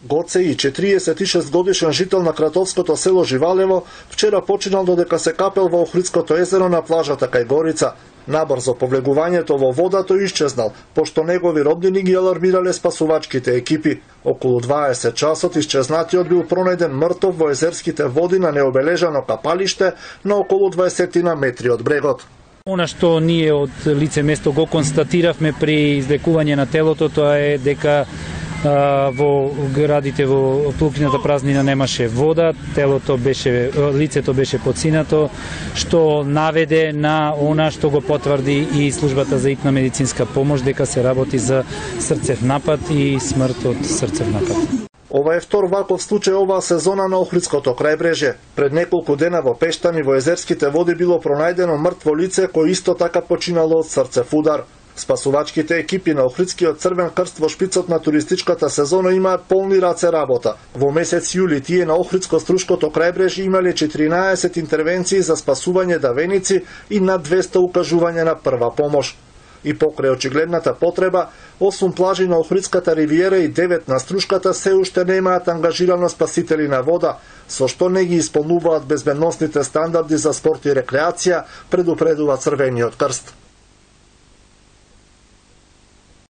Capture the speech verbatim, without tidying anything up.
Гоце и четириесет и шест годишен жител на кратовското село Живалево вчера починал додека се капел во Охридското езеро на плажата кај Горица. Набрзо повлегувањето во водата исчезнал, пошто негови роднини ги алармирале спасувачките екипи. Околу дваесет часот исчезнатиот бил пронајден мртов во езерските води на необележано капалиште на околу дваесет метри од брегот. Она што ние од лице место го констатиравме при излекување на телото, тоа е дека во градите во Плукината празнина немаше вода, телото беше, лицето беше подсинато, што наведе на она што го потврди и службата за итна медицинска помош, дека се работи за срцев напад и смрт од срцев напад. Ова е втор ваков случај оваа сезона на Охридското крајбрежје. Пред неколку дена во Пештани во езерските води било пронајдено мртво лице кој исто така починало од срцев удар. Спасувачките екипи на Охридскиот Црвен крст во шпицот на туристичката сезона имаат полни раце работа. Во месец јули тие на Охридско-Струшкото крајбрежје имале четиринаесет интервенции за спасување давеници и над двесте укажувања на прва помош. И покрај очигледната потреба, осум плажи на Охридската ривиера и девет на Струшката се уште немаат ангажирано спасители на вода, со што не ги исполнуваат безбедносните стандарди за спорт и рекреација, предупредува Црвениот крст.